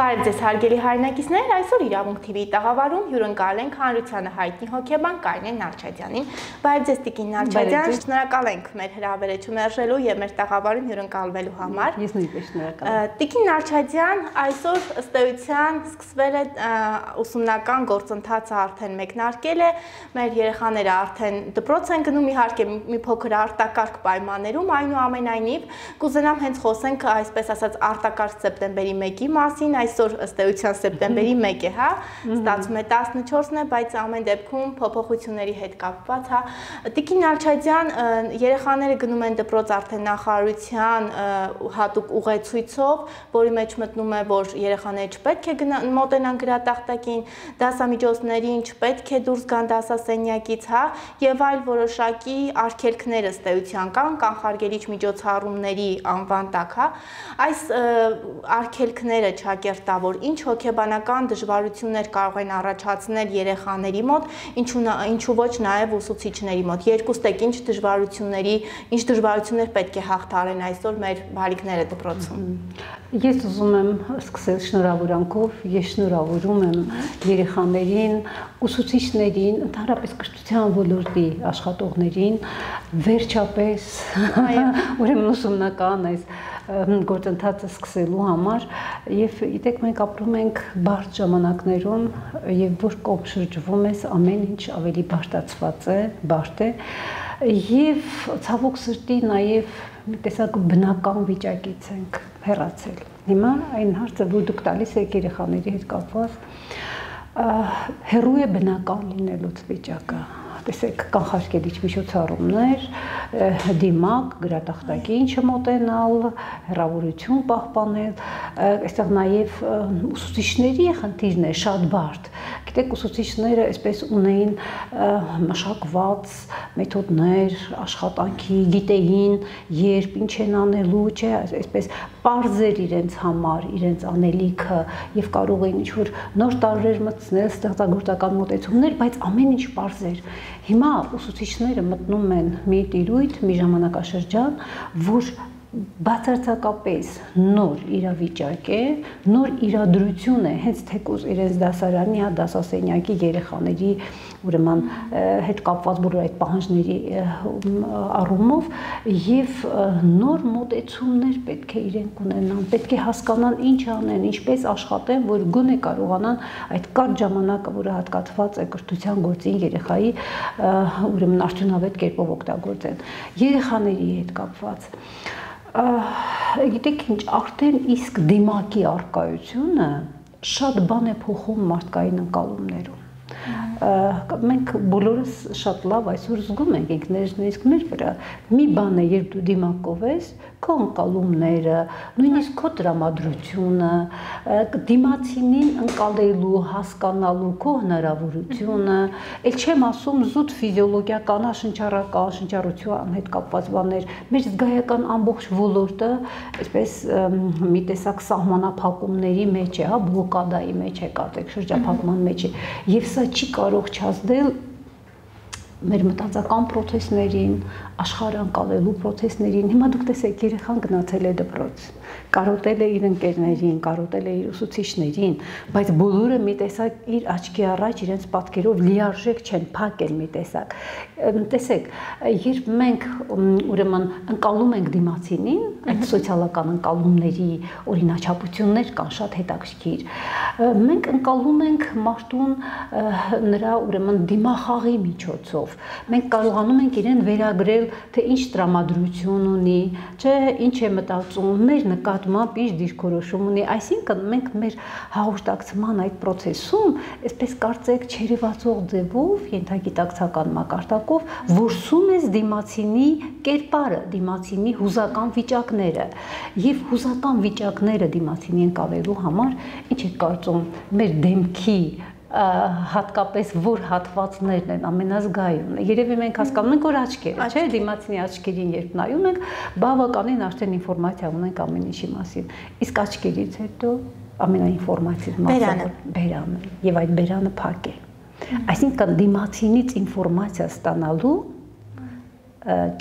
Բարև ձեզ հարգելի հայրենակիցներ, այսօր Իրավունք TV-ի տաղավարում հյուրընկալ ենք հանրությանը հայտնի հոգեբան Կարինե Նալչադյանին։ Բարև ձեզ Տիկին Նալչադյան, շնորհակալ ենք մեր հրավերը չմերժելու եւ մեր տաղավարում հյուրընկալվելու համար։ Ես նույնպես շնորհակալ եմ։ Տիկին Նալչադյան, այսօր ըստ էության սկսվել է ուսումնական գործընթացը արդեն մեկնարկել է, մեր երեխաները արդեն դպրոց են գնում, իհարկե մի փոքր արտակարգ պայմաններում, այնուամենայնիվ կուզենամ հենց խոսենք այսպես ասած արտակարգ սեպտեմբերի 1-ի մասին, այսօր ըստ էության սեպտեմբերի 1 է, հա, ստացվում է 14-ն է, բայց ամեն դեպքում փոփոխությունների հետ կապված, հա։ Տիկին Նալչադյան, երեխաները գնում են դպրոց արդեն նախարարության հատուկ ուղեցույցով, որի մեջ մտնում է, որ երեխաները չպետք է մոտենան գրատախտակին, դասամիջոցներին չպետք է դուրս գան դասասենյակից, հա, եւ այլ որոշակի արգելքներ ըստ էության կան կանխարգելիչ միջոցառումների անվան տակ, հա։ Այս արգելքները ճակերտավոր ինչ հոգեբանական դժվարություններ կարող են առաջացնել երեխաների մոտ, ինչու ոչ նաև ուսուցիչների մոտ։ Երկուստեք ինչ դժվարություններ պետք է հաղթարեն այսօր մեր բարիկները դպրոցում։ Ես ուզում եմ սկսել շնորհավորանքով, ես շնորհավորում եմ երեխաներին, ուսուցիչներին, ընդհանրապես կրթության ոլորտի աշխատողներին, վերջապես ուրեմն ուսումնական այս գործընթացը սկսելու համար եւ գիտեք մենք ապրում ենք բարդ ժամանակներում եւ որ կողմ շրջվում ես ամեն ինչ ավելի բարդացված է, բարդ է եւ ցավոք սրտի նաեւ մի տեսակ բնական վիճակից ենք հեռացել։ Հիմա այն հարցը, որ դուք տալիս եք երեխաների հետ կապված, հեռու է բնական լինելուց վիճակը։ Տեսեք, կանխարգելիչ միջոցառումներ, դիմակ, գրատախտակին չմոտենալ, հեռավորություն պահպանել, այստեղ նաև ուսուցիչների խնդիրն է շատ բարդ։ Գիտեք, ուսուցիչները այսպես ունեին մշակված մեթոդներ, աշխատանքի, գիտեին, երբ ինչ են անելու, չէ, այսպես պարզ էր իրենց համար, իրենց անելիքը եւ կարող էին ինչ-որ նոր տարրեր մտցնել, ստեղծագործական մոտեցումներ, բայց ամեն ինչ պարզ էր։ Հիմա ուսուցիչները մտնում են մի տիրույթ, մի ժամանակաշրջան, որ բացարձակապես նոր իրավիճակ է, նոր իրադրություն է, հենց թեկուզ իրենց դասարանի, դասասենյակի երեխաների ուրեմն հետ կապված բոլոր այդ պահանջների առումով եւ նոր մոտեցումներ պետք է իրենք ունենան, պետք է հասկանան ինչ անեն, ինչպես աշխատեն, որ գոնե կարողանան այդ կարճ ժամանակը, որը հատկացված է կրթության գործին երեխայի ուրեմն արդյունավետ կերպով օգտագործեն։ Երեխաների հետ կապված գիտեք ինչ, արդեն իսկ դիմակի առկայությունը շատ բան է փոխում մարդկային ընկալումներում։ Մենք բոլորս շատ լավ այսօր զգում ենք ինքներս մեր վրա։ Մի բան է, երբ դու դիմակով ես, քո ընկալումները, նույնիսկ քո տրամադրությունը, դիմացինին ընկալելու, հասկանալու քո հնարավորությունը, էլ չեմ ասում զուտ ֆիզիոլոգիական, շնչառական, շնչառության հետ կապված բաներ, մեր զգայական ամբողջ ոլորտը այսպես մի տեսակ սահմանափակումների մեջ է, հա, բլոկադայի մեջ է, կարծեք շրջափակման մեջ է, եւ սա չի կարող չազդել մեր մտածական պրոցեսներին, աշխարհը անցալելու պրոցեսներին։ Հիմա դուք տեսեք, երեխան գնացել է դպրոց, կարոտել է իր ընկերներին, կարոտել է իր ուսուցիչներին, բայց բոլորը մի տեսակ իր աչքի առաջ իրենց պատկերով լիարժեք չեն, փակ են մի տեսակ։ Տեսեք, երբ մենք ուրեմն ընկալում ենք դիմացինին, այդ սոցիալական ընկալումների օրինաչափություններ կան շատ հետաքրքիր։ Մենք ընկալում ենք մարդուն նրա ուրեմն դիմախաղի միջոցով։ Մենք կարողանում ենք իրեն վերագրել, թե ինչ տրամադրություն ունի, չէ, ինչ է մտածում, մեր նկատմամբ ինչ դիրքորոշում ունի, այսինքն մենք մեր հաղորդակցման այդ process-ում, այսպես կարծեք չերևացող ձևով, ենթագիտակցական մակարդակով որսում ես դիմացինի կերպարը, դիմացինի հուզական վիճակները, եւ հուզական վիճակները դիմացինի ընկալելու համար ինչ է կարծում մեր դեմքի հատկապես որ հատվածներն են ամենազգայունը։ Երևի մենք հասկանում ենք, որ աչքերը, չէ, դիմացինի աչքերին երբ նայում ենք, բավականին արդեն ինֆորմացիա ունենք ամեն ինչի մասին։ Իսկ աչքերից հետո ամենաինֆորմատիվ մասը բերանը, եւ այդ բերանը փակ է։ Այսինքն դիմացինից ինֆորմացիա ստանալու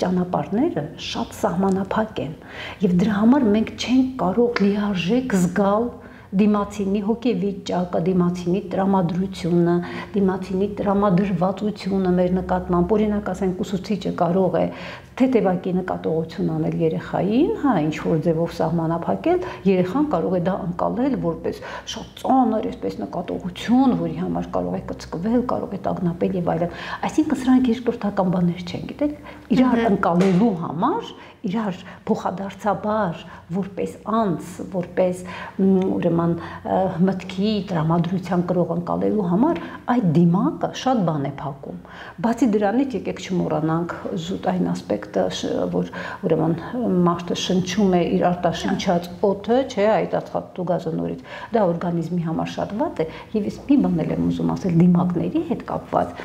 ճանապարհները շատ սահմանափակ են եւ դրա համար մենք չենք կարող լիարժեք զգալ դիմացինի հոգեվիճակը, դիմացինի տրամադրությունը, դիմացինի տրամադրվածությունը մեր նկատմամբ, օրինակ ասենք ուսուցիչը կարող է թեթևակի նկատողություն անել երեխային, հա, ինչ որ ձևով սահմանափակել, երեխան կարող է դա անցալել որպես շատ ծանր, այսպես նկատողություն, որի համար կարող է կծկվել, կարող է տագնապել եւ այլն։ Այսինքն սրանք երկրորդական բաներ չեն, գիտեք, իրար անցալելու համար, իրար փոխադարձաբար որպես անձ, որպես ուրեմն մտքի տրամադրության կրող անցալելու համար այդ դիմակը շատ բան է փակում։ Բացի դրանից եկեք չմոռանանք զուտ այն ասպեկտը, որ ուրեմն մարդը շնչում է իր արտաշնչած օդը, չէ, այդ ածխաթթու գազը նորից, դա օրգանիզմի համար շատ վատ է, եւ ես մի բան էլ եմ ուզում ասել դիմակների հետ կապված։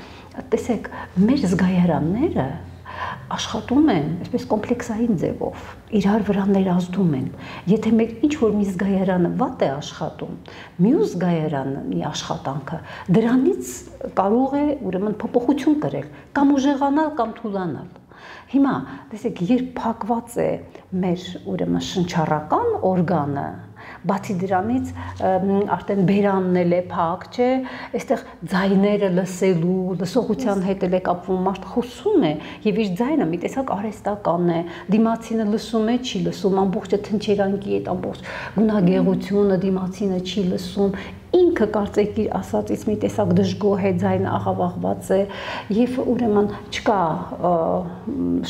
Տեսեք, մեր զգայարանները աշխատում են այսպես կոմպլեքսային ձևով, իրար վրա ներազդում են։ Եթե մեր ինչ-որ մի զգայարանը վատ է աշխատում, մյուս զգայարանի աշխատանքը դրանից կարող է ուրեմն փոփոխություն կրել, կամ ուժեղանալ, կամ թուլանալ։ Հիմա, տեսեք, երբ փակված է մեր ուրեմն շնչառական օրգանը, բացի դրանից արդեն բերանն էլ է փակ, չէ, այստեղ ձայները լսելու, լսողության հետ էլ է կապվում, մարդ խոսում է եւ իր ձայնը մի տեսակ արհեստական է, դիմացինը լսում է, չի լսում, ամբողջը թնչերանգի այդ ամբողջ գունագեղությունը դիմացինը չի լսում, ինքը կարծեք իր ասածից մի տեսակ դժգոհ է, ձայնը աղավաղված է եւ ուրեմն չկա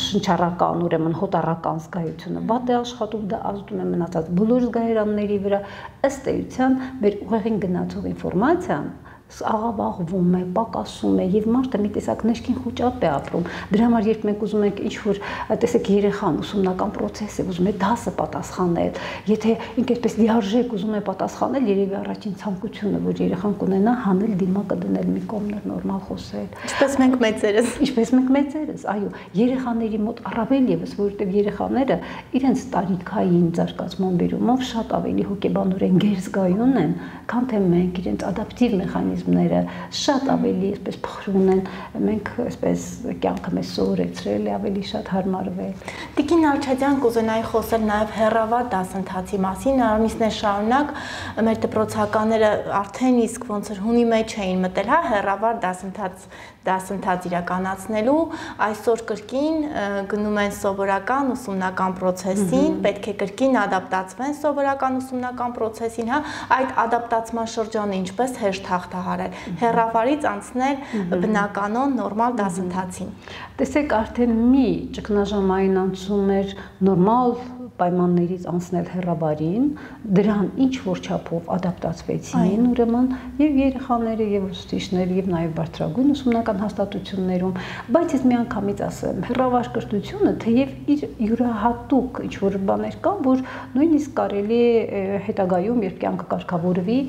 շնչառական, ուրեմն հոտառական զգայությունը, վատ է աշխատում, դա ազդում է մնացած բոլոր զգայարանների վրա, ըստ էության մեր ուղեղին գնացող ինֆորմացիան աղավաղվում է, պակասում է եւ մարդը մի տեսակ ներքին խոճապ է ապրում։ Դրա համար երբ մենք ուզում ենք ինչ-որ, տեսեք, երեխան ուսումնական process է, ուզում է դասը պատասխանել, եթե ինքը այսպես լիարժեք ուզում է պատասխանել, երևի առաջին ցանկությունը, որ երեխան կունենա, հանել դիմակը դնել մի կողմներ, նորմալ խոսել։ Ինչպես մենք մեծերս։ Ինչպես մենք մեծերս, այո, երեխաների մոտ առավել եւս, որովհետեւ երեխաները իրենց տարիքային զարգացման բերումով շատ ավելի հոգեբանորեն գերզգայուն են, քան թե մենք իրենց ադապտիվ մեխանիզմները շատ ավելի այսպես փխրուն են, մենք այսպես կյանքը մեզ սովորեցրել է ավելի շատ հարմարվել։ Տիկին Ալչադյան, կուզենայի խոսել նաև հեռավար դասընթացի մասին, ամիսներ շարունակ մեր դպրոցականները արդեն իսկ ոնց որ հունի մեջ էին մտել, հա, հեռավար դասընթաց իրականացնելու, այսօր կրկին գնում են սովորական ուսումնական process-ին, պետք է կրկին ադապտացվեն սովորական ուսումնական process-ին, հա, այդ ադապտացման շրջանը ինչպես հեշտ հաղթահարել, հեռավարից անցնել բնականon նորմալ դասընթացին։ Տեսեք, արդեն մի ճգնաժամային անցում էր նորմալ պայմաններից անցնել հեռավարին, դրան ինչ որ չափով ադապտացվեցին ուրեմն եւ երեխաները եւ ուսուցիչները եւ նաեւ բարձրագույն ուսումնական հաստատություններում, բայց ես միանգամից ասեմ, հեռավար կրթությունը թեև իր յուրահատուկ ինչ որ բաներ կան, որ նույնիսկ կարելի է հետագայում, երբ կյանքը կարգավորվի,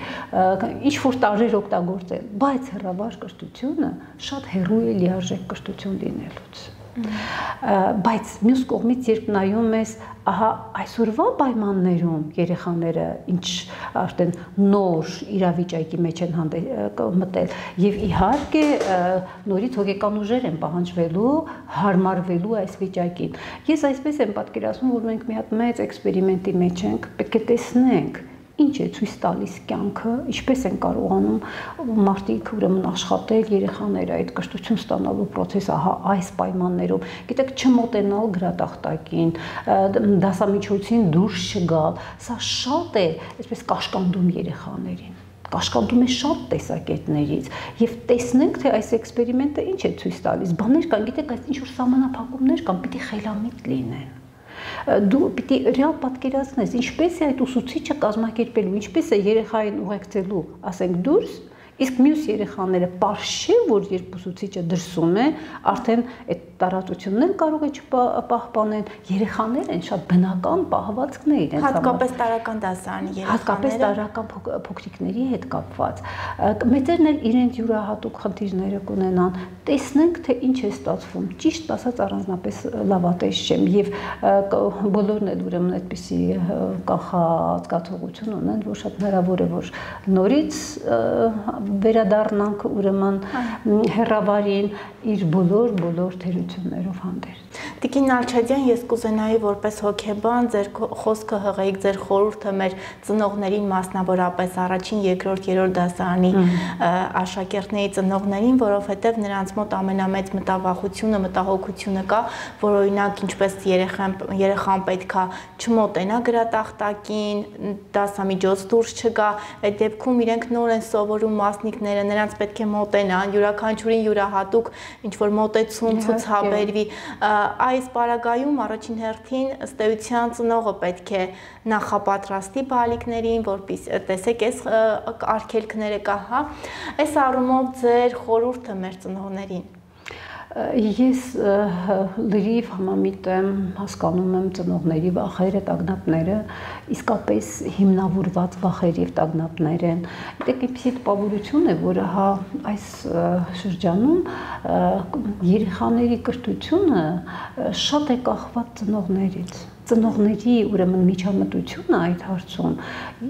ինչ որ տարեր օգտագործել, բայց հեռավար կրթությունը շատ հեռու է լիարժեք կրթություն լինելուց։ Բայց մյուս կողմից երբ նայում ես, ահա այսօրվա պայմաններում երեխաները ինչ արդեն նոր իրավիճակի մեջ են մտել եւ իհարկե նորից հոգեկան ուժեր են պահանջվելու հարմարվելու այս վիճակին։ Ես այսպես եմ պատկերացնում, որ մենք մի հատ մեծ էքսպերիմենտի մեջ ենք, պետք է տեսնենք ինչ է ցույց տալիս կյանքը, ինչպես են կարողանում մարդիկ ուրեմն աշխատել, երեխաները այդ կրթություն ստանալու process ահա այս պայմաններում, գիտեք, չմոտենալ գրատախտակին, դասամիջոցին դուրս չգալ, սա շատ է, այսպես կաշկանդում երեխաներին, կաշկանդում է շատ տեսակետներից եւ տեսնենք, թե այս էքսպերիմենտը ինչ է ցույց տալիս, բաներ կան, գիտեք, այս ինչ որ սահմանափակումներ կան, պիտի խելամիտ լինեն։ Դու պիտի ռեալ պատկերացնես, ինչպես է այդ ուսուցիչը կազմակերպելու, ինչպես է երեխային ուղեկցելու, ասենք դուրս, իսկ մյուս երեխաները պարզ չէ, որ երբ ուսուցիչը դրսում է, արդեն այդ տարածությունն էլ կարող է չպահպանեն, երեխաներ են շատ բնական պահվածքներ իրենց համար։ Հատկապես տարրական դասարանի երեխաները։ Հատկապես տարրական փոքրիկների հետ կապված։ Մեծերն էլ իրենց յուրահատուկ խնդիրները կունենան։ Տեսնենք, թե ինչ է ստացվում։ Ճիշտ ասած, առանձնապես լավատես չեմ եւ բոլորն էլ ուրեմն այդպիսի կանխազգացողություն ունեն, որ շատ հնարավոր է, որ նորից վերադառնանք ուրեմն հեռավարին իր բոլոր թերություններով հանդերձ։ Տիկին Նալչադյան, ես կուզենայի որպես հոգեբան ձեր խոսքը հղեիք, ձեր խորհուրդը մեր ծնողներին, մասնավորապես առաջին, երկրորդ, երրորդ դասարանի աշակերտների ծնողներին, որովհետև նրանց մոտ ամենամեծ մտավախությունը, մտահոգությունը կա, որ օրինակ ինչպես երեխան պետքա չմոտենա գրատախտակին, դասամիջոց դուրս չգա, այդ դեպքում իրենք նոր են սովորում մասնիկները, նրանց պետք է մոտենան, յուրաքանչյուրին յուրահատուկ ինչ-որ մոտեցում ցուցաբերվի, այս պարագայում առաջին հերթին ըստ էության ծնողը պետք է նախապատրաստի բալիկներին, որպեսզի տեսեք այս արգելքները կա, հա, այս առումով ձեր խորհուրդը մեր ծնողներին։ Ես լրիվ համամիտ եմ, հասկանում եմ ծնողների վախերը, տագնապները, իսկապես հիմնավորված վախեր եւ տագնապներ են։ Դեք այնպիսի տպավորություն է, որ հա այս շրջանում երեխաների կրթությունը շատ է կախված ծնողներից։ Ծնողների ուրեմն միջամտությունը այդ հարցում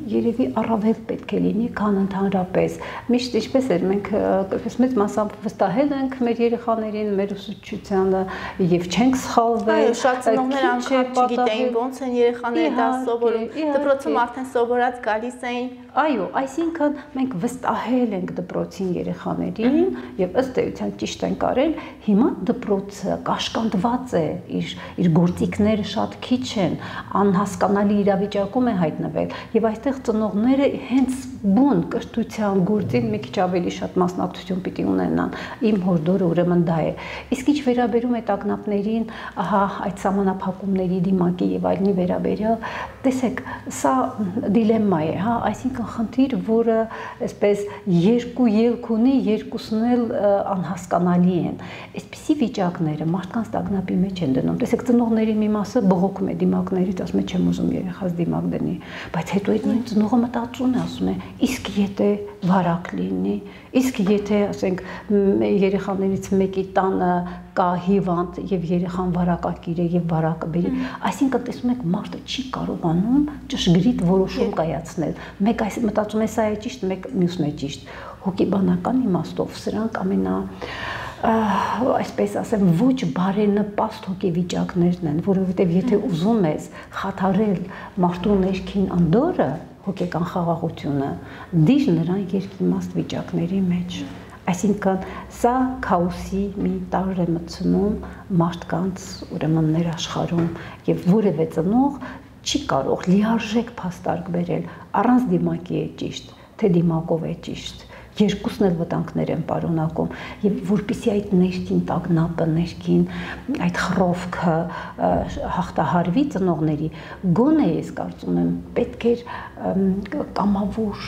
երևի առավել պետք է լինի, քան ընդհանրապես։ Միշտ ինչպես էր, մենք մեծ մասամբ վստահել ենք մեր երեխաներին, մեր ուսուցչությանը եւ չենք սխալվել։ Այո, շատ ծնողներ անգամ չգիտեին ոնց են երեխաները դա սովորում, դպրոցում արդեն սովորած գալիս էին։ Այո, այսինքն մենք վստահել ենք դպրոցին երեխաներին եւ ըստ էության ճիշտ ենք արել, հիմա դպրոցը կաշկանդված է, իր գործիքները շատ քիչ են, անհասկանալի իրավիճակում է հայտնվել եւ այստեղ ծնողները հենց բուն կրթության գործին մի քիչ ավելի շատ մասնակցություն պիտի ունենան։ Իմ հորդորը ուրեմն դա է։ Իսկ ինչ վերաբերում է տագնապներին, ահա այդ սահմանափակումների դիմակի եւ այլնի վերաբերյալ, տեսեք, սա դիլեմմա է, հա, այսինքն խնդիր, որը այսպես երկու ելք ունի, երկուսն էլ անհասկանալի են։ Այսպիսի վիճակները մարդկանց տագնապի մեջ են դնում։ Տեսեք, ծնողների մի մասը բողոքում է դիմակներից, ասում է չեմ ուզում երեխաս դիմակ դնի, բայց հետո այդ նույն ծնողը մտածում է, ասում է, իսկ եթե վարակ լինի, իսկ եթե, ասենք, երեխաներից մեկի տանը կա հիվանդ եւ երեխան վարակակիր է եւ վարակը բերի, այսինքն տեսնում եք մարդը չի կարողանում ճշգրիտ որոշում կայացնել։ Մեկ այս մտածում է սա է ճիշտ, մեկ մյուսն է ճիշտ։ Հոգեբանական իմաստով սրանք այսպես ասեմ, ոչ բարենպաստ հոգեվիճակներն են, որովհետև եթե ուզում ես խաթարել մարդու ներքին անդորրը, հոգեկան խաղաղությունը, դիր նրան երկիմաստ վիճակների մեջ։ Այսինքն սա քաոսի մի տար է մտցնում մարդկանց ուրեմն ներաշխարհում եւ որևէ ծնող չի կարող լիարժեք փաստարկ բերել առանց դիմակի է ճիշտ, թե դիմակով է ճիշտ։ Երկուսն էլ վտանգներ են պարունակում եւ որպեսզի այդ ներքին տագնապը, ներքին այդ խռովքը հաղթահարվի ծնողների, գոնե ես կարծում եմ պետք էր կամավոր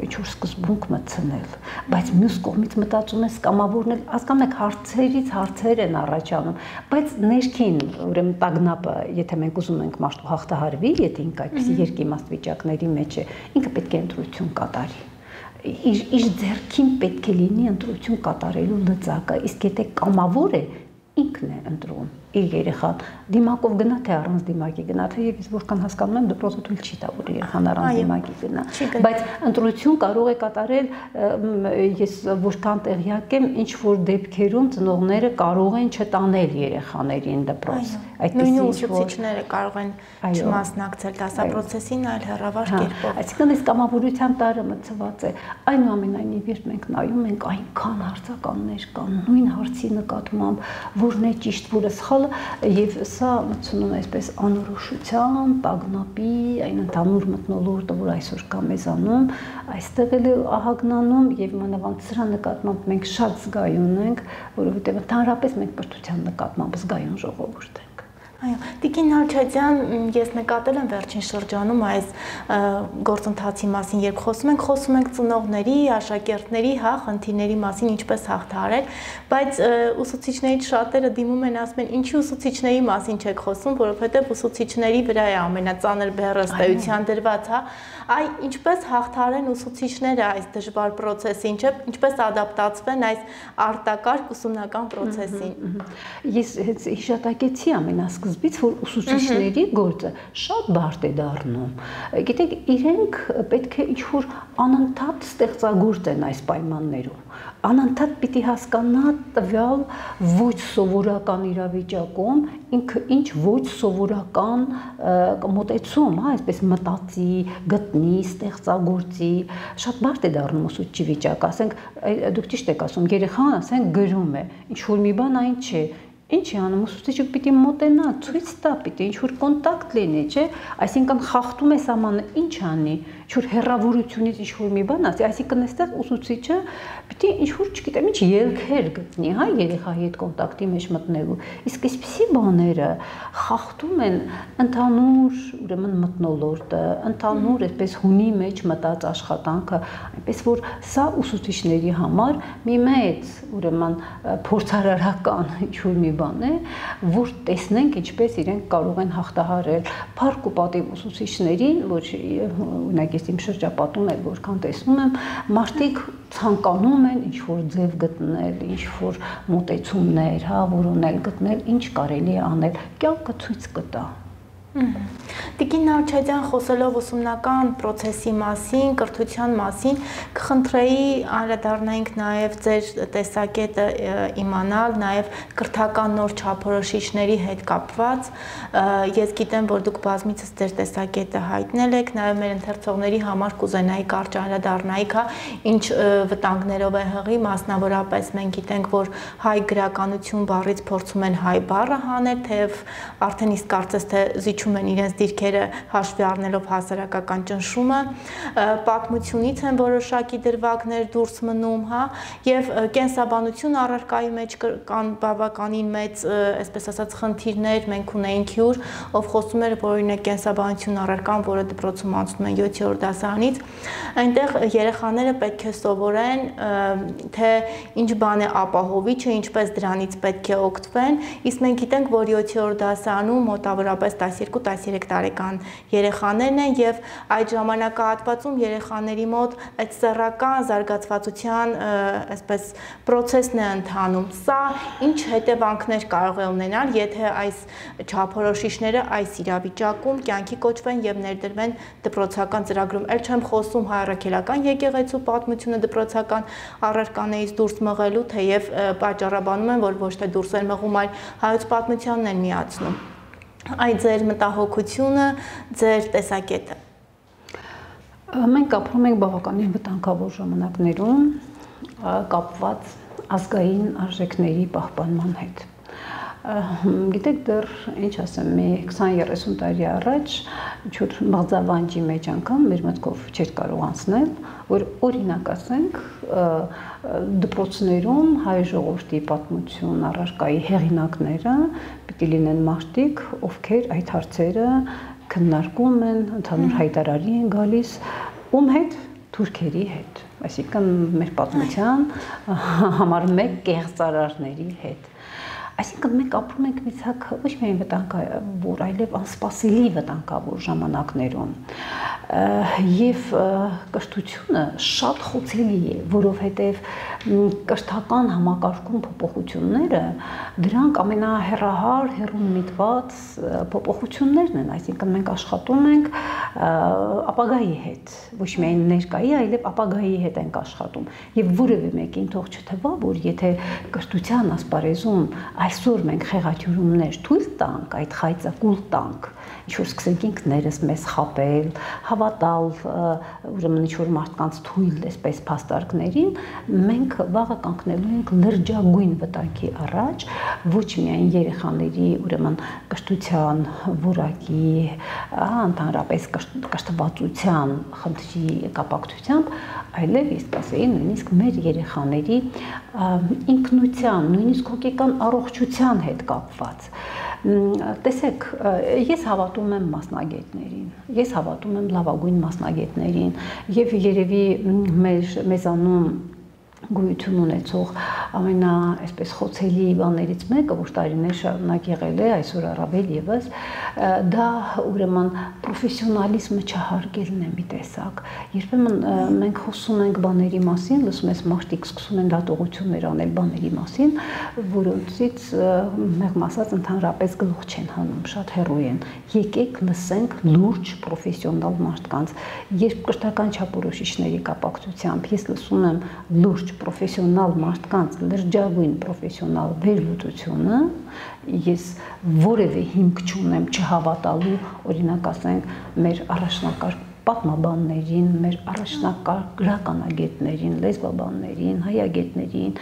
ինչ-որ սկզբունք մտցնել, բայց մյուս կողմից մտածում ես կամավորն էլ հասկանում եք հարցերից հարցեր են առաջանում, բայց ներքին ուրեմն տագնապը, եթե մենք ուզում ենք մարդու հաղթահարվի, եթե ինքը այդպիսի երկիմաստ վիճակների մեջ է, ինքը պետք է ընտրություն կատարի։ Իր ձեռքին պետք է լինի ընտրություն կատարելու լծակը, իսկ եթե կամավոր է, ինքն է ընտրում իր երեխան, դիմակով գնա թե առանց դիմակի գնա, թե ես որքան հասկանում եմ դպրոցը թույլ չի տա, որ երեխան առանց դիմակի գնա, բայց ընտրություն կարող է կատարել, ես որքան տեղյակ եմ, ինչ որ դեպքերում ծնողները կարող են չտանել երեխաներին դպրոց, նույն ուսուցիչները կարող են չմասնակցել դասապրոցեսին, այլ հեռավար կերպով։ Այսինքն այս կամավորության տարը մցված է, այնուամենայնիվ երբ մենք նայում ենք այնքան հարցականներ կան, նույն հարցի նկատմամբ, որն է ճիշտ, որը սխալ եւ սա մտցնում է այսպես անորոշության, տագնապի, այն ընդհանուր մթնոլորտը, որ այսօր կա մեզանում, այստեղ էլ ահագնանում եւ մանավանդ սրա նկատմամբ մենք շատ զգայուն ենք, որովհետեւ ընդհանրապես մենք կրթության նկատմամբ զգայուն ժողովուրդ ենք։ Այո, Տիկին Նալչադյան, ես նկատել եմ վերջին շրջանում այս գործընթացի մասին, երբ խոսում ենք ծնողների, աշակերտների, հա, խնդիրների մասին, ինչպես հաղթահարել, բայց ուսուցիչներից շատերը դիմում են, ասում են, ինչի ուսուցիչների մասին չեք խոսում, որովհետև ուսուցիչների վրա է ամենածանր բեռը ըստ էության դրված, հա, Այ ինչպես հաղթարեն ուսուցիչները այս դժվար process-ին, ինչպես ադապտացվեն այս արտակարգ ուսումնական process-ին։ Ես հիշատակեցի ամենասկզբից, որ ուսուցիչների գործը շատ բարդ է դառնում։ Գիտեք, իրենք պետք է ինչ-որ անընդհատ ստեղծագործ են այս պայմաններում։ Անընդհատ պիտի հասկանա տվյալ ոչ սովորական իրավիճակում ինքը ինչ ոչ սովորական մոտեցում, հա, այսպես մտածի, գտնի, ստեղծագործի, շատ բարդ է դառնում ուսուցչի վիճակը, ասենք, դուք ճիշտ եք ասում, երեխան, ասենք, գրում է, ինչ որ մի բան այն չէ, ինչ է անում, ուսուցիչը պիտի մոտենա, ցույց տա, պիտի ինչ-որ կոնտակտ լինի, չէ, այսինքն խախտում է սահմանը, ինչ անի, ինչ-որ հեռավորությունից ինչ-որ մի բան ասի, այսինքն այստեղ ուսուցիչը պիտի ինչ-որ, չգիտեմ, ինչ ելքեր գտնի, հա, երեխայի հետ կոնտակտի մեջ մտնելու, իսկ այսպիսի բաները խախտում են ընդհանուր, ուրեմն մթնոլորտը, ընդհանուր այսպես հունի մեջ մտած աշխատանքը, այնպես որ սա ուսուցիչների համար մի մեծ, ուրեմն փորձարարական ինչ-որ մի բան է, որ տեսնենք ինչպես իրենք կարող են հաղթահարել փառք ու պատիվ ուսուցիչներին, որ օրինակ ես իմ շրջապատում էլ որքան տեսնում եմ, մարդիկ ցանկանում են ինչ-որ ձև գտնել, ինչ-որ մոտեցումներ, հա, որոնել գտնել, ինչ կարելի է անել, կյանքը ցույց կտա։ Տիկին Նարչադյան, խոսելով ուսումնական process-ի մասին, կրթության մասին, կխնդրեի անդրադառնանք նաև ձեր տեսակետը իմանալ, նաև կրթական նոր չափորոշիչների հետ կապված։ Ես գիտեմ, որ դուք բազմիցս ձեր տեսակետը հայտնել եք, նաև մեր ընթերցողների համար կուզենայի կարճ անդրադառնայիք, ինչ վտանգներով է հղի, մասնավորապես մենք գիտենք, որ հայ գրականություն բառից փորձում են հայ բառը հանել, թեև արդեն իսկ կարծես թե են իրենց դիրքերը հաշվի առնելով հասարակական ճնշումը, պատմությունից են որոշակի դրվագներ դուրս մնում, հա, եւ կենսաբանություն առարկայի մեջ կան բավականին մեծ, այսպես ասած, խնդիրներ, մենք ունեինք հյուր, ով խոսում էր, որ օրինակ կենսաբանություն առարկան, որը դպրոցում անցնում են 7-րդ դասարանից, այնտեղ երեխաները պետք է սովորեն, թե ինչ բան է ապահովիչը, ինչպես դրանից պետք է օգտվեն, իսկ մենք գիտենք, որ 7-րդ դասարանում մոտավորապես 12-13 տարեկան երեխաներն են եւ այդ ժամանակահատվածում երեխաների մոտ այդ սեռական զարգացվածության այսպես process-ն է ընթանում։ Սա ինչ հետևանքներ կարող է ունենալ, եթե այս չափորոշիչները այս իրավիճակում կյանքի կոչվեն եւ ներդրվեն դպրոցական ծրագրում։ Էլ չեմ խոսում հայրաքելական եկեղեցու պատմությունը դպրոցական առարկաներից դուրս մղելու, թեև պատճառաբանում են, որ ոչ թե դուրս են մղում, այլ հայոց պատմությանն են միացնում։ Այդ ձեր մտահոգությունը, ձեր տեսակետը։ Մենք ապրում ենք բավականին վտանգավոր ժամանակներում կապված ազգային արժեքների պահպանման հետ։ Գիտեք, դեռ ինչ ասեմ, մի 20-30 տարի առաջ ինչ-որ մղձավանջի մեջ անգամ մեր մտքով չէր կարող անցնել, որ օրինակ ասենք դպրոցներում հայ ժողովրդի պատմություն առարկայի հեղինակները պիտի լինեն մարդիկ, ովքեր այդ հարցերը քննարկում են, ընդհանուր հայտարարի են գալիս, ում հետ, թուրքերի հետ, այսինքն մեր պատմության համար մեկ կեղծարարների հետ։ Այսինքն մենք ապրում ենք մի ցակ ոչ միայն վտանգավոր, այլև անսպասելի վտանգավոր ժամանակներում։ Եվ կրթությունը շատ խոցելի է, որովհետև կրթական համակարգում փոփոխությունները դրանք ամենահեռահար, հեռուն միտված փոփոխություններն են, այսինքն մենք աշխատում ենք ապագայի հետ, ոչ միայն ներկայի, այլև ապագայի հետ ենք աշխատում։ Եվ որևէ մեկին թող չթվա, որ եթե կրթության ասպարեզում այսօր մենք խեղաթյուրումներ թույլ տանք, այդ խայծակուլ տանք, ինչ-որ սկսենք ինքներս մեզ խաբել, հավատալ, ուրեմն ինչ-որ մարդկանց թույլ այսպես փաստարկներին, մենք վաղը կանգնելու ենք լրջագույն վտանգի առաջ, ոչ միայն երեխաների, ուրեմն կրթության որակի, ընդհանրապես կրթվածության խնդրի կապակցությամբ, այլև ես կասեի նույնիսկ մեր երեխաների ինքնության, նույնիսկ հոգեկան առողջության հետ կապված։ Տեսեք, ես հավատում եմ մասնագետներին, ես հավատում եմ լավագույն մասնագետներին եւ երևի մեզանում գոյություն ունեցող այսպես խոցելի բաներից մեկը, որ տարիներ շարունակ եղել է, այսօր առավել եւս, դա ուրեմն պրոֆեսիոնալիզմը չհարգելն է մի տեսակ։ Երբեմն մենք խոսում ենք բաների մասին, լսում ես մարդիկ սկսում են դատողություններ անել բաների մասին, որոնցից մեղմ ասած ընդհանրապես գլուխ չեն հանում, շատ հեռու են։ Եկեք լսենք լուրջ պրոֆեսիոնալ մարդկանց։ Երբ կրթական չափորոշիչների կապակցությամբ ես լսում եմ լուրջ պրոֆեսիոնալ մարդկանց լրջագույն պրոֆեսիոնալ վերլուծությունը, ես որևէ հիմք չունեմ չհավատալու, օրինակ ասենք, մեր առաջնակարգ պատմաբաններին, մեր առաջնակարգ գրականագետներին, լեզվաբաններին, հայագետներին,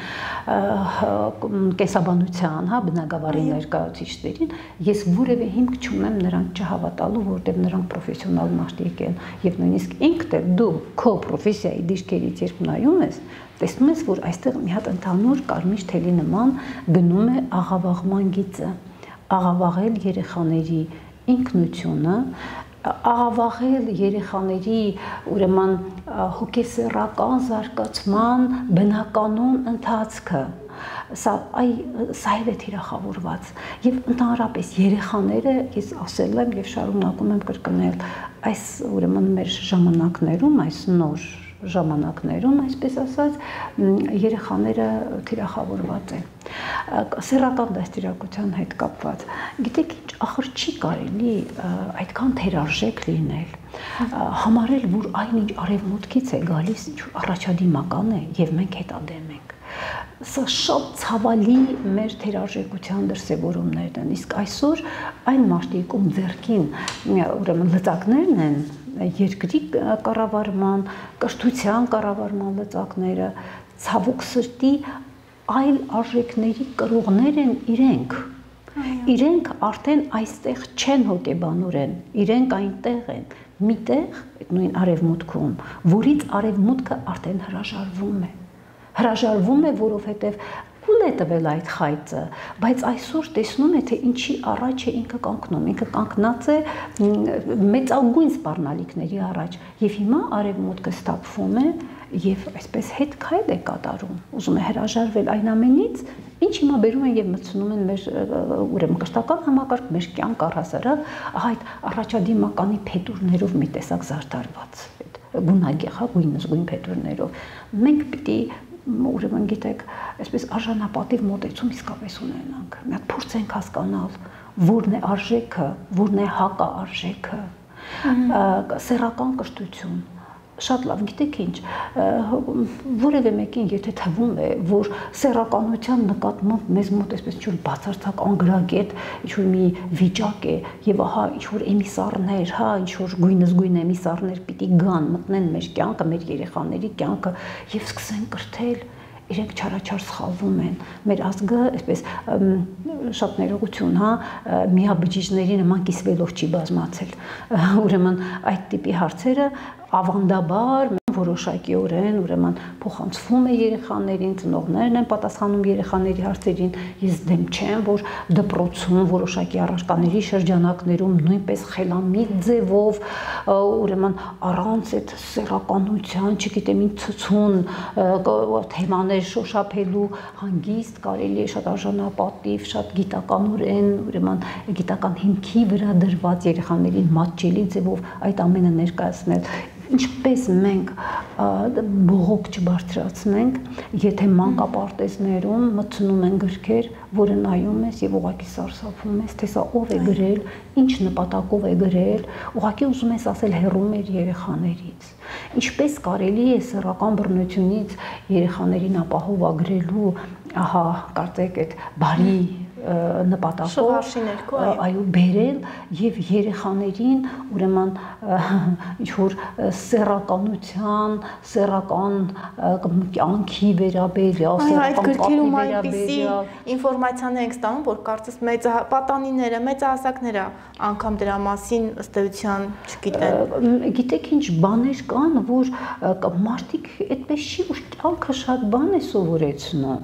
կենսաբանության, բնագավառի ներկայացուցիչներին, ես որևէ հիմք չունեմ նրանք չհավատալու, որտեղ նրանք պրոֆեսիոնալ մարդիկ են, եւ նույնիսկ ինքդ դու քո պրոֆեսիայի դիրքերից երբ նայում ես, տեսնում ես, որ այստեղ մի հատ ընդհանուր կարմիր թելի նման գնում է աղավաղման գիծը, աղավաղել երեխաների ինքնությունը, աղավաղել երեխաների ուրեմն հոգեսեռական զարգացման բնականon ընթացքը, սա է թիրախավորված եւ ընդհանրապես երեխաները, ես ասել եմ եւ շարունակում եմ կրկնել, այս ուրեմն մեր ժամանակներում, այս նոր ժամանակներում, այսպես ասած, երեխաները թիրախավորված են։ Սեռական դաստիարակության հետ կապված։ Գիտեք ինչ, ախր չի կարելի այդքան թերարժեք լինել, համարել, որ այնինչ արևմուտքից է գալիս, ինչ-որ առաջադիմական է եւ մենք հետադեմ ենք։ Սա շատ ցավալի մեր թերարժեքության դրսևորումներն են, իսկ այսօր այն մարդիկ, ում ձեռքին ուրեմն լծակներն են, երկրի կառավարման, կրթության կառավարման լծակները, ցավոք սրտի այլ արժեքների կրողներ են իրենք։ Իրենք արդեն այստեղ չեն հոգեբանորեն, իրենք այնտեղ են, միտեղ, այդ նույն արևմուտքում, որից արևմուտքը արդեն հրաժարվում է։ Հրաժարվում է, որովհետև ուլ է տվել այդ խայծը, բայց այսօր տեսնում է, թե ինչի առաջ է ինքը կանգնում, ինքը կանգնած է մեծագույն սպառնալիքների առաջ, եւ հիմա արևմուտքը ստապվում է եւ այսպես հետ քայլ է կատարում, ուզում է հրաժարվել այն ամենից, ինչ հիմա բերում են եւ մտցնում են մեր ուրեմն կրթական համակարգ, մեր կյանք առհասարակ, այդ առաջադիմականի փետուրներով մի տեսակ զարդարված, այդ գունագեղագույն փետուրներով։ Մենք պիտի ուրեմն գիտեք, այսպես արժանապատիվ մոտեցում իսկապես ունենանք։ Մի հատ փորձենք հասկանալ, որն է արժեքը, որն է հակաարժեքը, սեռական կրթություն։ Շատ լավ, գիտեք ինչ, որևէ մեկին եթե թվում է, որ սեռականության նկատմամբ մեզ մոտ այսպես ինչ-որ բացարձակ անգրագետ, ինչ-որ մի վիճակ է, եւ ահա ինչ-որ էմիսարներ, ինչ-որ գույնզգույն էմիսարներ պիտի գան, մտնեն մեր կյանքը, մեր երեխաների կյանքը եւ սկսեն կրթել, իրենք չարաչար սխալվում են, մեր ազգը, այսպես շատ ներողություն, միաբջիջների նման կիսվելով չի բազմացել, ուրեմն այդ տիպի հարցերը ավանդաբար որոշակիորեն ուրեմն փոխանցվում է երեխաներին, ծնողներն են պատասխանում երեխաների հարցերին, ես դեմ չեմ, որ դպրոցում որոշակի առարկաների շրջանակներում նույնպես խելամիտ ձևով ուրեմն առանց այդ սեռականության, չգիտեմ ինչ ցցուն թեմաներ շոշափելու հանգիստ կարելի է շատ արժանապատիվ, շատ գիտականորեն, ուրեմն գիտական հիմքի վրա դրված երեխաներին մատչելի ձևով այդ ամենը ներկայացնել։ Ինչպես մենք բողոք չբարձրացնենք, եթե մանկապարտեզներում մտցնում են գրքեր, որը նայում ես եւ ուղղակի սարսափում ես, թե սա ով է գրել, ինչ նպատակով է գրել, ուղղակի ուզում ես ասել հեռու մեր երեխաներից։ Ինչպես կարելի է սեռական բռնությունից երեխաներին ապահովագրելու, ահա, կարծեք այդ բարի նպատակով այո բերել եւ երեխաներին ուրեմն ինչ որ սեռականության, սեռական կյանքի վերաբերյալ, սեռական կապի վերաբերյալ ինֆորմացիաներ ենք ստանում, որ կարծես պատանիները, մեծահասակները անգամ դրա մասին ըստ էության չգիտեն։ Գիտեք ինչ բաներ կան, որ մարդիկ այդպես չի, որ կյանքը շատ բան է սովորեցնում,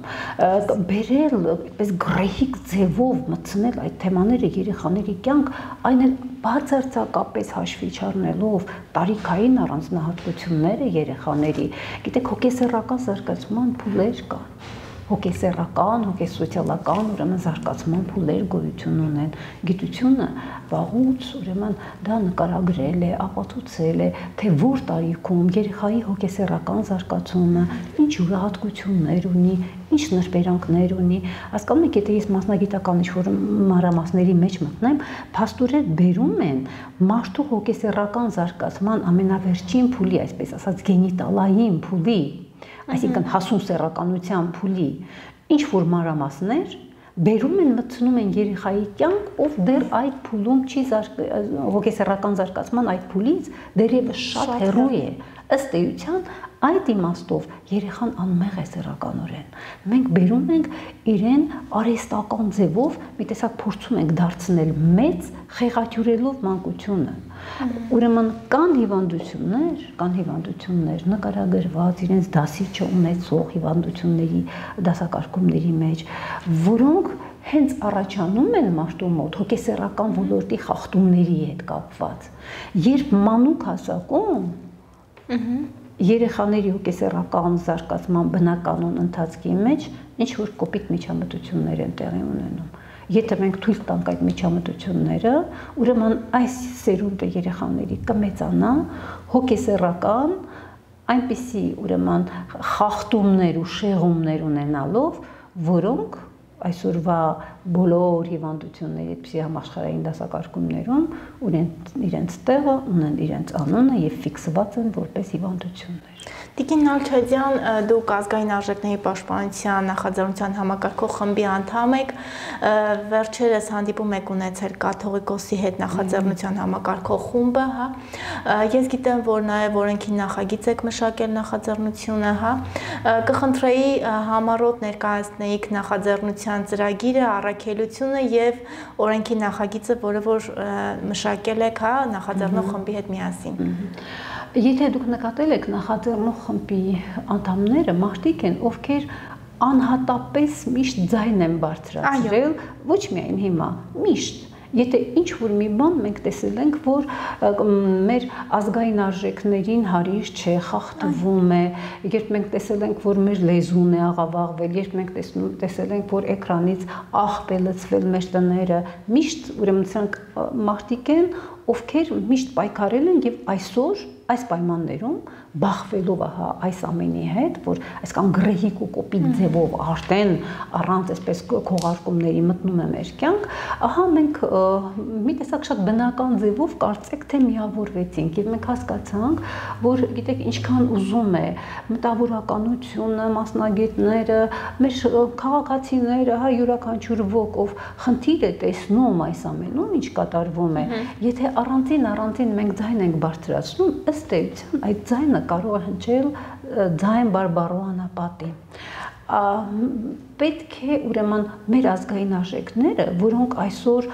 բերել այդպես գրեհիկ ձևով մտցնել այդ թեմաները երեխաների կյանք, այն էլ բացարձակապես հաշվի չառնելով տարիքային առանձնահատկությունները երեխաների, գիտեք հոգեսեռական զարգացման փուլեր կան, հոգեսեռական, հոգեսոցիալական, ուրեմն զարգացման փուլեր գոյություն ունեն։ Գիտությունը վաղուց ուրեմն դա նկարագրել է, ապացուցել է, թե որ տարիքում երեխայի հոգեսեռական զարգացումը ինչ յուրահատկություններ ունի, ինչ նրբերանգներ ունի։ Հասկանում եք, եթե ես մասնագիտական ինչ-որ մանրամասների մեջ մտնեմ, փաստորեն բերում են մարդու հոգեսեռական զարգացման ամենավերջին փուլի, այսպես ասած, գենիտալային փուլի, այսինքն հասուն սեռականության փուլի, ինչ որ մանրամասներ բերում են, մտցնում են երեխայի կյանք, ով դեռ այդ փուլում չի հոգեսեռական զարգացման այդ փուլից դեռևս շատ հեռու է։ Ըստ էության այդ իմաստով երեխան անմեղ է սեռականորեն։ Մենք բերում ենք իրեն արհեստական ձևով, մի տեսակ փորձում ենք դարձնել մեծ, խեղաթյուրելով մանկությունը։ Ուրեմն կան հիվանդություններ նկարագրված իրենց դասիչը ունեցող հիվանդությունների դասակարգումների մեջ, որոնք հենց առաջանում են մարդու մոտ հոգեսեռական ոլորտի խախտումների հետ կապված։ Երբ մանուկ հասակում երեխաների հոգեսեռական զարգացման բնականon ընթացքի մեջ ինչ որ կոպիտ միջամտություններ են տեղի ունենում։ Եթե մենք թույլ տանք այդ միջամտությունները, ուրեմն այս սերունդը երեխաների կմեծանա հոգեսեռական այնպիսի ուրեմն խախտումներ ու շեղումներ ունենալով, որոնք այսօրվա բոլոր հիվանդությունների այդպիսի համաշխարհային դասակարգումներում իրենց տեղը ունեն, իրենց անունը եւ ֆիքսված են որպես հիվանդություններ։ Տիկին Նալչադյան, դուք ազգային արժեքների պաշտպանության նախաձեռնության համակարգող խմբի անդամ եք, վերջերս հանդիպում եք ունեցել կաթողիկոսի հետ նախաձեռնության համակարգող խումբը, հա։ Ես գիտեմ, որ նաև օրենքի նախագիծ եք մշակել նախաձեռնությունը, հա։ Կխնդրեի համառոտ ներկայացնեիք նախաձեռնության ծրագիրը, առաքելությունը եւ օրենքի նախագիծը, որը որ մշակել եք, հա, նախաձեռնող խմբի հետ միասին։ Եթե դուք նկատել եք նախաձեռնող խմբի անդամները մարդիկ են, ովքեր անհատապես միշտ ձայն են բարձրացրել, ոչ միայն հիմա, միշտ։ Եթե ինչ-որ մի բան մենք տեսել ենք, որ մեր ազգային արժեքներին հարիր չէ, խախտվում է, երբ մենք տեսել ենք, որ մեր լեզուն է աղավաղվել, երբ մենք տեսել ենք, որ էկրանից աղբ է լցվել մեր տները, միշտ ուրեմն սրանք մարդիկ են, ովքեր միշտ պայքարել են եւ այսօր այս պայմաններում բախվելով այս ամենի հետ, որ այսքան գրեհիկ ու կոպիտ ձևով արդեն առանց այսպես քողարկումների մտնում է մեր կյանք, ահա մենք մի տեսակ շատ բնական ձևով կարծեք թե միավորվեցինք եւ մենք հասկացանք, որ գիտեք ինչքան ուզում է մտավորականությունը, մասնագետները, մեր քաղաքացիները, հա յուրաքանչյուր ոք ով խնդիր է տեսնում այս ամենում, ինչ կատարվում է, եթե առանձին մենք ձայն ենք բարձրացնում, ըստ էության այդ ձայնը կարող է հնչել ձայն բարբառու անապատի։ Պետք է ուրեմն մեր ազգային արժեքները, որոնք այսօր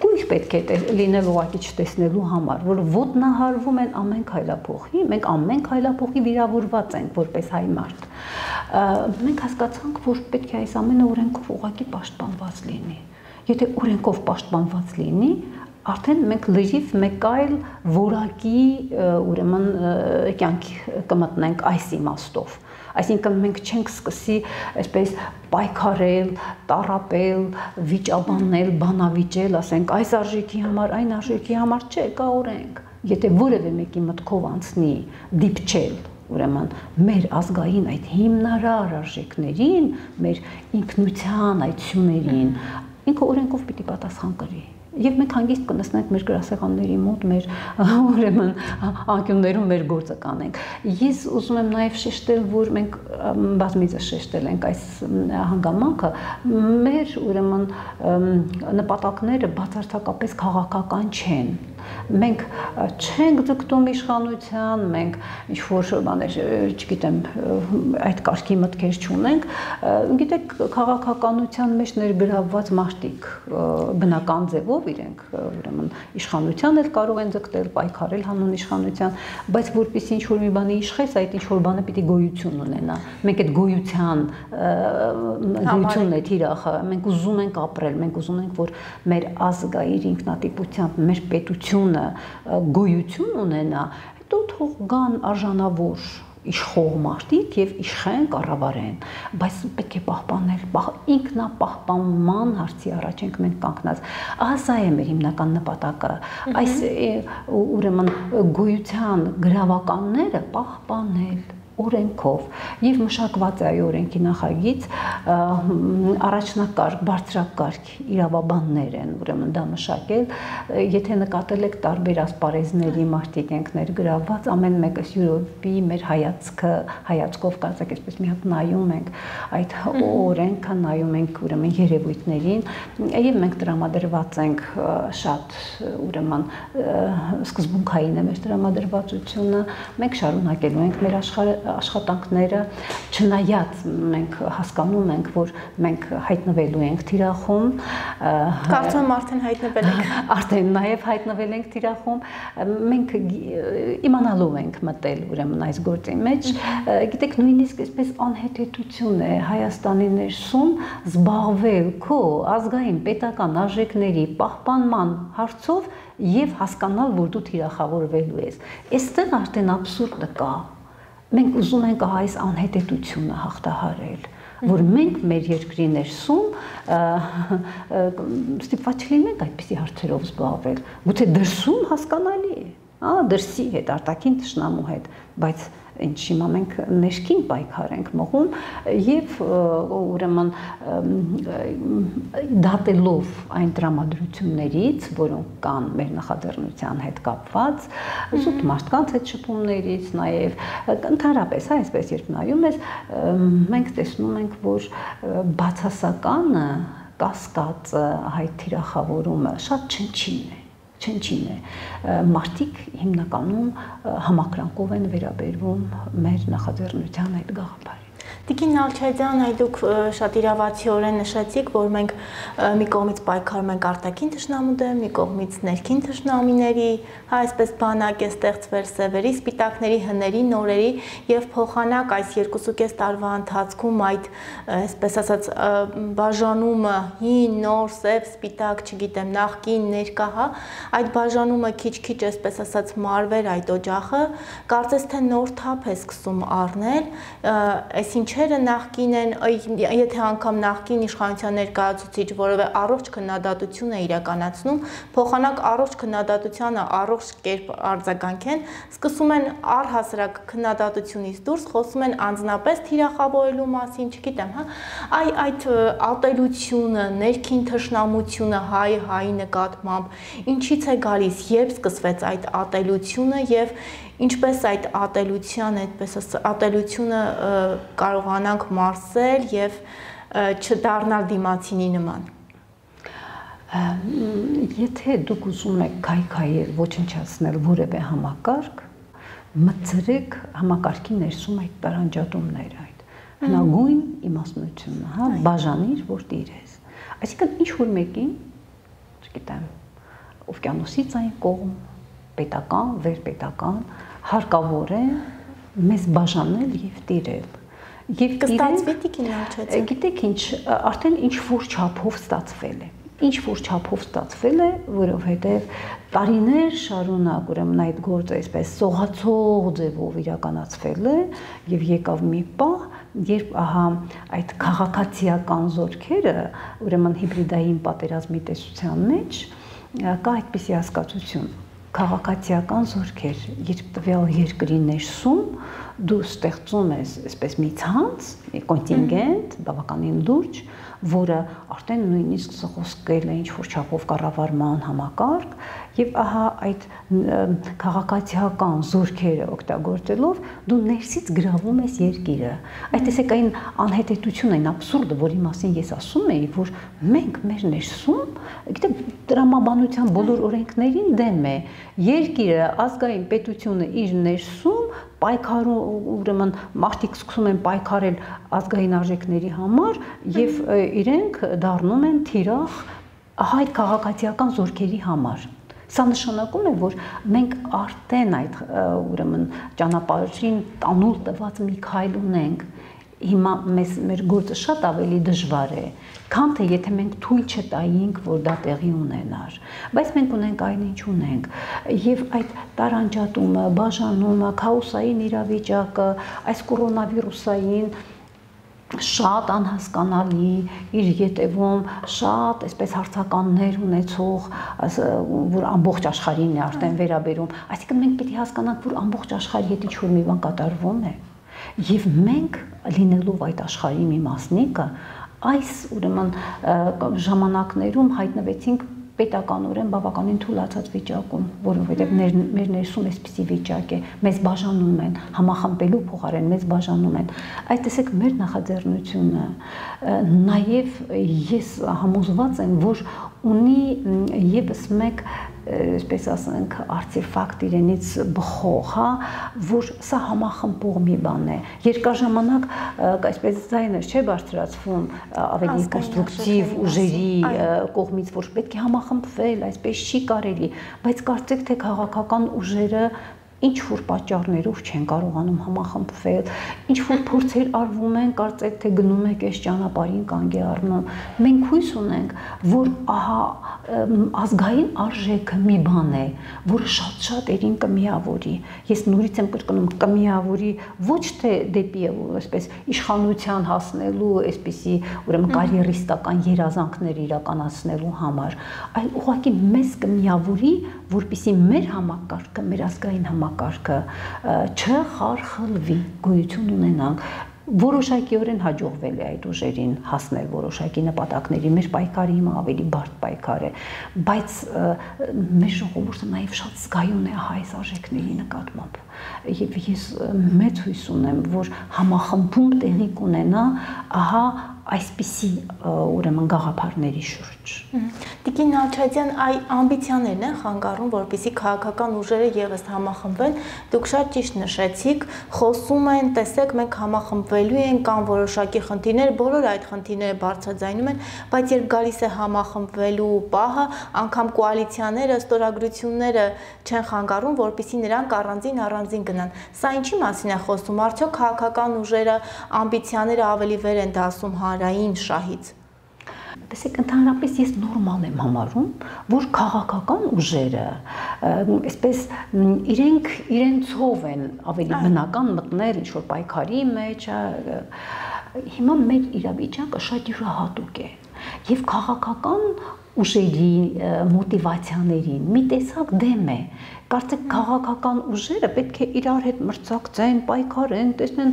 կույր պետք է լինել ուղղակի չտեսնելու համար, որ ոտնահարվում են ամեն քայլափոխի, մենք ամեն քայլափոխի վիրավորված ենք որպես հայ մարդ։ Մենք հասկացանք, որ պետք է այս ամենը օրենքով ուղղակի պաշտպանված լինի։ Եթե օրենքով պաշտպանված լինի, արդեն մենք լրիվ մեկ այլ որակի ուրեմն կյանք կմտնենք այս իմաստով։ Այսինքն մենք չենք սկսի այսպես պայքարել, տառապել, վիճաբանել, բանավիճել, ասենք այս արժեքի համար, այն արժեքի համար չէ, կա օրենք։ Եթե որևէ մեկի մտքով անցնի դիպչել, ուրեմն մեր ազգային այդ հիմնարար արժեքներին, մեր ինքնության այդ սյուներին, ինքը օրենքով պիտի պատասխան կրի։ Եվ մենք հանգիստ կնստենք մեր գրասեղանների մոտ, մեր ուրեմն անկյուններում մեր գործը կանենք։ Ես ուզում եմ նաև շեշտել, որ մենք բազմիցս շեշտել ենք այս հանգամանքը, մեր ուրեմն նպատակները բացարձակապես քաղաքական չեն։ Մենք չենք ձգտում իշխանության, մենք ինչ-որ բաներ, չգիտեմ, այդ կարգի մտքեր չունենք, գիտեք, քաղաքականության մեջ ներգրավված մարդիկ բնական ձևով իրենք ուրեմն իշխանության էլ կարող են ձգտել, պայքարել հանուն իշխանության, բայց որպեսզի ինչ-որ մի բանի իշխես, այդ ինչ-որ բանը պիտի գոյություն ունենա։ Մենք այդ գոյությունն է թիրախը, մենք ուզում ենք ապրել, մենք ուզում ենք, որ մեր ազգը իր ինքնատիպությամբ, մեր պետությունը գոյություն ունենա, հետո թող գան արժանավոր իշխող մարդիկ եւ իշխեն կառավարեն, բայց պետք է պահպանել ինքնապահպանման հարցի առաջ ենք մենք կանգնած։ Սա է մեր հիմնական նպատակը։ Այս ուրեմն գոյության գրավականները պահպանել օրենքով եւ մշակված է օրենքի նախագիծ առաջնակարգ բարձրակարգ իրավաբաններ են ուրեմն դա մշակել եթե նկատել եք տարբեր ասպարեզների մարդիկ ենք ներգրավված ամեն մեկը յուրոպի մեր հայացքով կարծեք այսպես մի հատ նայում ենք այդ օրենքը նայում ենք ուրեմն երևույթներին եւ մենք տրամադրված ենք շատ ուրեմն սկզբունքային է մեր տրամադրվածությունը մենք շարունակելու ենք մեր աշխատանքները չնայած մենք հասկանում ենք որ մենք հայտնվելու ենք թիրախում կարծում եմ արդեն հայտնվել ենք արդեն նաև հայտնվել ենք թիրախում մենք իմանալու ենք մտել ուրեմն այս գործի մեջ գիտեք նույնիսկ այսպես անհետեթություն է Հայաստանի ներսում զբաղվել քո ազգային պետական արժեքների պահպանման հարցով եւ հասկանալ որ դու թիրախավորվելու ես այստեղ արդեն աբսուրդը կա մենք ուզում ենք այս անհետեթությունը հաղթահարել, որ մենք մեր երկրի ներսում ստիպված չլինենք այդպիսի հարցերով զբաղվել, գուցե դրսում հասկանալի է, դրսի հետ, արտաքին թշնամու հետ, բայց ինչ հիմա մենք ներքին պայքար ենք մղում եւ ուրեմն դատելով այն տրամադրություններից, որոնք կան մեր նախաձեռնության հետ կապված, զուտ մարդկանց հետ շփումներից, նաեւ ընդհանրապես այսպես երբ նայում ես, մենք տեսնում ենք, որ բացասականը կասկածը, հայ թիրախավորումը շատ չնչին է, մարդիկ հիմնականում համակրանքով են վերաբերվում մեր նախաձեռնության այդ գաղափարին։ Տիկին Նալչարյան, դուք շատ իրավացիորեն նշեցիք, որ մենք մի կողմից պայքարում ենք արտաքին թշնամու դեմ, մի կողմից ներքին թշնամիների, այսպես բանակ է ստեղծվել սևերի, սպիտակների, հների, նորերի եւ փոխանակ այս 2.5 տարվա ընթացքում այդ, այսպես ասած, բաժանումը հին, նոր, սև, սպիտակ, չգիտեմ, նախկին, ներկա, այդ բաժանումը քիչ-քիչ, այսպես ասած, մարվեր այդ օջախը, կարծես թե նոր թափ է սկսում առնել, ինչերը նախկին են, եթե անգամ նախկին իշխանության ներկայացուցիչ որևէ առողջ քննադատություն է իրականացնում, փոխանակ առողջ քննադատությանը առողջ կերպ արձագանքեն, սկսում են առհասարակ քննադատությունից դուրս խոսում են անձնապես թիրախավորելու մասին, չգիտեմ, այդ ատելությունը, ներքին թշնամությունը հայի նկատմամբ ինչից է գալիս, երբ սկսվեց այդ ատելությունը եւ ինչպես այդ ատելությունը կարողանանք մարսել եւ չդառնալ դիմացինի նման։ Եթե դուք ուզում եք քայքայել, ոչնչացնել որևէ համակարգ, մտցրեք համակարգի ներսում այդ տարանջատումները, այդ հնագույն իմաստնությունը, բաժանիր, որ տիրես։ Այսինքն ինչ որ մեկին, չգիտեմ, օվկիանոսից այն կողմ պետական, վերպետական հարկավոր է մեզ բաժանել եւ տիրել։ Եվ կստացվի տիկին Նալչարյան։ Գիտեք ինչ, արդեն ինչ որ չափով ստացվել է։ Ինչ որ չափով ստացվել է, որովհետեւ տարիներ շարունակ ուրեմն այդ գործը այսպես սողացող ձևով իրականացվել է եւ եկավ մի պահ, երբ ահա այդ քաղաքացիական զորքերը, ուրեմն հիբրիդային պատերազմի տեսության մեջ կա այդպիսի հասկացություն քաղաքացիական զորքեր, երբ տվյալ երկրի ներսում դու ստեղծում ես այսպես մի ցանց, մի կոնտինգենտ, բավականին լուրջ, որը արդեն նույնիսկ խոսքել է ինչ-որ չափով կառավարման համակարգ, եւ ահա այդ քաղաքացիական զորքերը օգտագործելով դու ներսից գրավում ես երկիրը։ Այդ տեսեք այն անհետեթությունը, այն աբսուրդը, որի մասին ես ասում էի, որ մենք մեր ներսում, գիտեմ, տրամաբանության բոլոր օրենքներին դեմ է, երկիրը, ազգային պետությունը իր ներսում պայքարում ուրեմն մարդիկ սկսում են պայքարել ազգային արժեքների համար եւ իրենք դառնում են թիրախ այդ քաղաքացիական զորքերի համար։ Սա նշանակում է, որ մենք արդեն այդ ուրեմն ճանապարհին տանուլ տված մի քայլ ունենք։ հիմա մեր գործը շատ ավելի դժվար է, քան թե եթե մենք թույլ չտայինք, որ դա տեղի ունենար, բայց մենք ունենք այն ինչ ունենք, եւ այդ տարանջատումը, բաժանումը, քաոսային իրավիճակը, այս կորոնավիրուսային շատ անհասկանալի իր ետևում շատ այսպես հարցականներ ունեցող, որ ամբողջ աշխարհին է արդեն վերաբերում, այսինքն մենք պետք է հասկանանք, որ ամբողջ աշխարհի հետ ինչ-որ մի բան կատարվում է, եւ մենք լինելով այդ աշխարհի մի մասնիկը, այս ուրեմն ժամանակներում հայտնվեցինք պետականորեն բավականին թուլացած վիճակում, որովհետև մեր ներսում այսպիսի վիճակ է, մեզ բաժանում են, համախմբելու փոխարեն մեզ բաժանում են։ Այդ տեսեք մեր նախաձեռնությունը, նաև ես համոզված եմ, որ ունի եւս մեկ այսպես ասենք արտեֆակտ իրենից բխող, հա, որ սա համախմբող մի բան է։ Երկար ժամանակ այսպես ձայներ չէ բարձրացվում ավելի կոնստրուկտիվ ուժերի կողմից, որ պետք է համախմբվել, այսպես չի կարելի, բայց կարծեք թե քաղաքական ուժերը ինչ որ պատճառներով չեն կարողանում համախմբվել, ինչ որ փորձեր արվում են, կարծեք թե գնում եք այս ճանապարհին կանգ է առնում։ Մենք հույս ունենք, որ ահա ազգային արժեքը մի բան է, որը շատ երին կմիավորի։ Ես նորից եմ կրկնում, կմիավորի ոչ թե դեպի այսպես իշխանության հասնելու, այսպիսի ուրեմն կարիերիստական երազանքներ իրականացնելու համար, այլ ուղղակի մեզ կմիավորի, որպեսզի մեր համակարգը, մեր ազգային համակարգը չխարխլվի, գոյություն ունենանք։ Որոշակիորեն հաջողվել է այդ ուժերին հասնել որոշակի նպատակների, մեր պայքարը հիմա ավելի բարդ պայքար է, բայց մեր ժողովուրդը նաև շատ զգայուն է այս արժեքների նկատմամբ։ Եվ ես մեծ հույս ունեմ, որ համախմբում տեղի կունենա ահա այսպիսի ուրեմն գաղափարների շուրջ։ Տիկին Նալչադյան, այ ամբիցիաներն են խանգարում, որպեսզի քաղաքական ուժերը եւս համախմբվեն։ Դուք շատ ճիշտ նշեցիք, խոսում են, տեսեք, մենք համախմբվելու ենք, կան որոշակի խնդիրներ, բոլոր այդ խնդիրները բարձրաձայնում են, բայց երբ գալիս է համախմբվելու պահը, անգամ կոալիցիաները, ստորագրությունները չեն խանգարում, որպեսզի նրանք առանձին գնան։ Սա ինչի մասին է խոսում։ Արդյոք քաղաքական ուժերը ամբիցիաները ավելի վեր են դասում հանրային շահից։ Տեսեք, ընդհանրապես ես նորմալ եմ համարում, որ քաղաքական ուժերը այսպես իրենցով են ավելի բնական մտնել ինչ-որ պայքարի մեջ, հիմա մեր իրավիճակը շատ յուրահատուկ է եւ քաղաքական ուժերի մոտիվացիաներին մի տեսակ դեմ է։ Կարծեք քաղաքական ուժերը պետք է իրար հետ մրցակցեն, պայքարեն, տեսնեն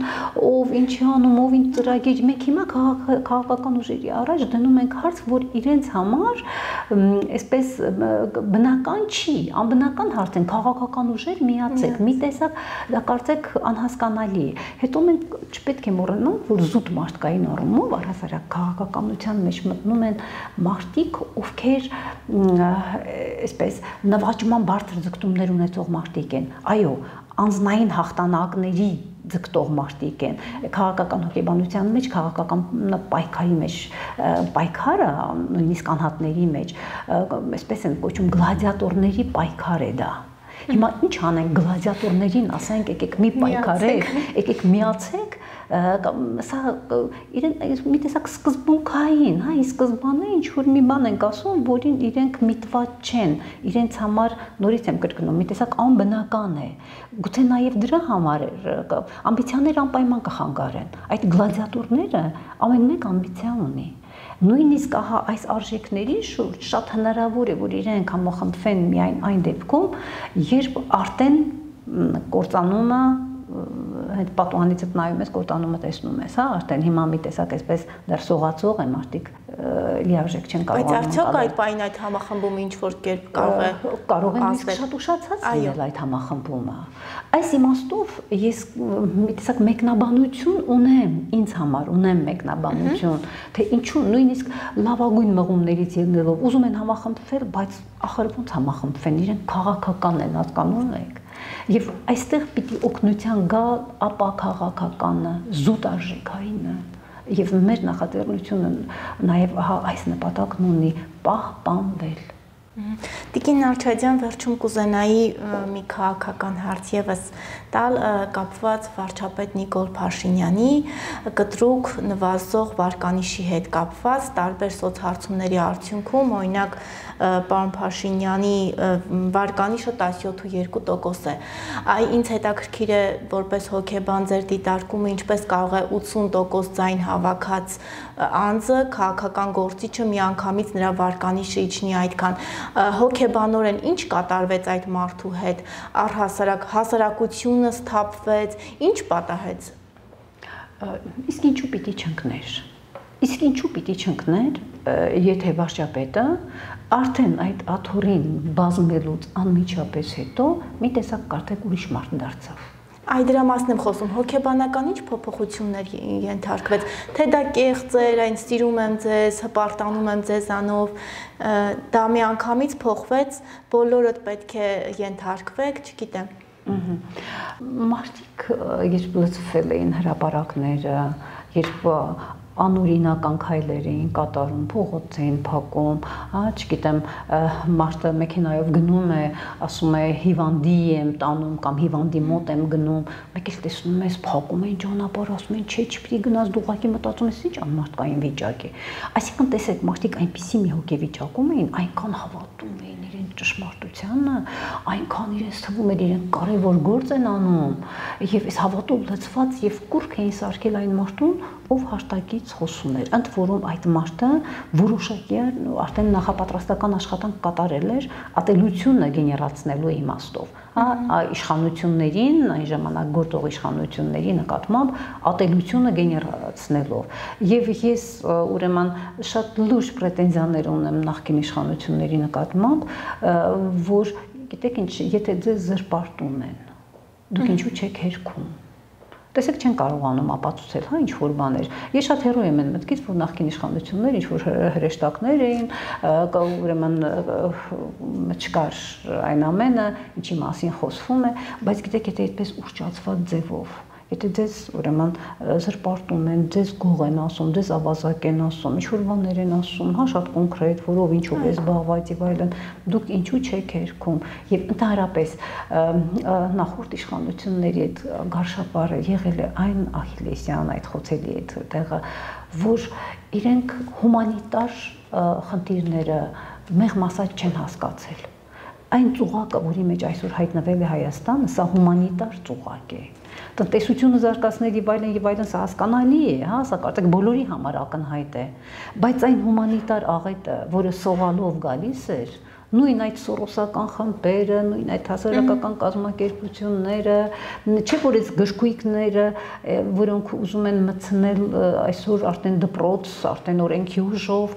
ով ինչի անում, ով ինչ ծրագիր։ Մենք հիմա քաղաքական ուժերի առաջ դնում ենք հարց, որ իրենց համար այսպես բնական չի, անբնական հարց են, քաղաքական ուժեր միացեք, մի տեսակ դա կարծեք անհասկանալի է։ Հետո մենք չպետք է մոռանանք, որ զուտ մարդկային առումով առհասարակ քաղաքականության մեջ մտնում են մարդիկ, ովքեր այսպես նվաճման բարձր ձգտումներ ունեցող մարդիկ են, այո, անձնային հաղթանակների ձգտող մարդիկ են, քաղաքական հոգեբանության մեջ, քաղաքական պայքարի մեջ, պայքարը նույնիսկ անհատների մեջ, այսպես են կոչում գլադիատորների պայքար է դա։ Հիմա ինչ անենք գլադիատորներին, ասենք եկեք մի պայքարեք, եկեք միացեք, սա իրեն մի տեսակ սկզբունքային, հա, ի սկզբանե ինչ-որ մի բան ենք ասում, որին իրենք միտված չեն, իրենց համար, նորից եմ կրկնում, մի տեսակ անբնական է, գուցե նաև դրա համար ամբիցիաները անպայման կխանգարեն, այդ գլադիատորները ամեն մեկ ամբիցիա ունի, նույնիսկ ահա այս արժեքների շուրջ շատ հնարավոր է, որ իրենք համախմբվեն միայն այն դեպքում, երբ արդեն կործանումը այդ պատուհանից նայում ես, կործանումը տեսնում ես, հա, արդեն հիմա մի տեսակ այսպես դեռ սողացող են մարդիկ լիարժեք չեն կարողանում։ Բայց արդյոք այդ պայն այդ համախմբումը ինչ որ կերպ կարող է շատ ուշացած լինել այդ համախմբումը։ Այս իմաստով ես մի տեսակ մեկնաբանություն ունեմ, ինձ համար ունեմ մեկնաբանություն, թե ինչու նույնիսկ լավագույն մղումներից ելնելով ուզում են համախմբվել, բայց ախր ոնց համախմբվեն, իրենք քաղաքական են, հասկանում եք։ Եվ այստեղ պիտի օգնության գա ապա քաղաքականը, զուտ արժեքայինը, եւ մեր նախաձեռնությունը նաեւ այս նպատակն ունի պահպանվել, Տիկին Նալչադյան, վերջում կուզենայի մի քաղաքական հարց ևս տալ կապված վարչապետ Նիկոլ Փաշինյանի կտրուկ նվազող վարկանիշի հետ կապված տարբեր սոցհարցումների արդյունքում, օրինակ պարոն Փաշինյանի վարկանիշը 17.2% է։ Ինձ հետաքրքիր է որպես հոգեբան ձեր դիտարկումը, ինչպես կարող է 80% ձայն հավաքած անձը, քաղաքական գործիչը միանգամից նրա վարկանիշը իջնի այդքան։ Հոգեբանորեն ինչ կատարվեց այդ մարդու հետ, առհասարակ հասարակությունը սթափվեց, ինչ պատահեց։ Իսկ ինչու պիտի չընկներ։ Իսկ ինչու պիտի չընկներ, եթե վարչապետը արդեն այդ աթոռին բազմելուց անմիջապես հետո մի տեսակ կարծեք ուրիշ մարդ դարձավ։ Այդ դրա մասն եմ խոսում, հոգեբանական ինչ փոփոխություններ ենթարկվեց, թե դա կեղծ էր, այն սիրում եմ ձեզ, հպարտանում եմ ձեզանով, դա միանգամից փոխվեց, բոլորդ պետք է ենթարկվեք, չգիտեմ։ Մարդիկ երբ լծվել էին հրապարակները, երբ անօրինական քայլեր էին կատարում, փողոց էին փակում, չգիտեմ, մարդը մեքենայով գնում է, ասում է հիվանդի եմ տանում կամ հիվանդի մոտ եմ գնում, մեկ էլ տեսնում ես փակում են ճանապարհ, ասում են չէ, չպիտի գնաս, դու ուղղակի մտածում ես ինչ անմարդկային վիճակ է։ Այսինքն տեսեք, մարդիկ այնպիսի մի հոգեվիճակում էին, այնքան հավատում էին իրենց ճշմարտությանը, այնքան իրենց թվում էր իրենք կարևոր գործ են անում, եւ այս հավատով լցված եւ կուրք էին սարքել այն մարդուն, ով հաշտակից խոսում էր, ընդ որում այդ մարդը որոշակի արդեն նախապատրաստական աշխատանք կատարել էր ատելությունը գեներացնելու իմաստով, իշխանություններին, այն ժամանակ գործող իշխանությունների նկատմամբ ատելությունը գեներացնելով։ Եվ ես ուրեմն շատ լուրջ պրետենզիաներ ունեմ նախկին իշխանությունների նկատմամբ, որ գիտեք ինչ, եթե ձեզ զրպարտում են, դուք ինչու չեք հերքում։ Տեսեք չեն կարողանում ապացուցել, հա, ինչ-որ բաներ։ Ես շատ հեռու եմ այն մտքից, որ նախկին իշխանություններ ինչ-որ հրեշտակներ էին, ուրեմն չկար այն ամենը, ինչի մասին խոսվում է, բայց գիտեք, եթե այդպես ուռճացված ձևով, եթե ձեզ ուրեմն զրպարտում են, ձեզ գող են ասում, ձեզ ավազակ են ասում, ինչ-որ բաներ են ասում, հա, շատ կոնկրետ, որով ինչով է զբաղված եւ այլն, դուք ինչու չեք հերքում։ Եվ ընդհանրապես նախորդ իշխանությունների այդ գարշապարը եղել է այն ահիլեսյան, այդ խոցելի այդ տեղը, որ իրենք հումանիտար խնդիրները մեղմ ասած չեն հասկացել։ Այն ծուղակը, որի մեջ այսօր հայտնվել է Հայաստանը, սա հումանիտար ծուղակ է։ Տնտեսությունը զարգացնել եւ այլն, սա հասկանալի է, հա, սա կարծեք բոլորի համար ակնհայտ է, բայց այն հումանիտար աղետը, որը սողալով գալիս էր, նույն այդ սորոսական խմբերը, նույն այդ հասարակական կազմակերպությունները, չէ՞ որ այս գժգույքները, որոնք ուզում են մտցնել այսօր արդեն դպրոց, արդեն օրենքի ուժով,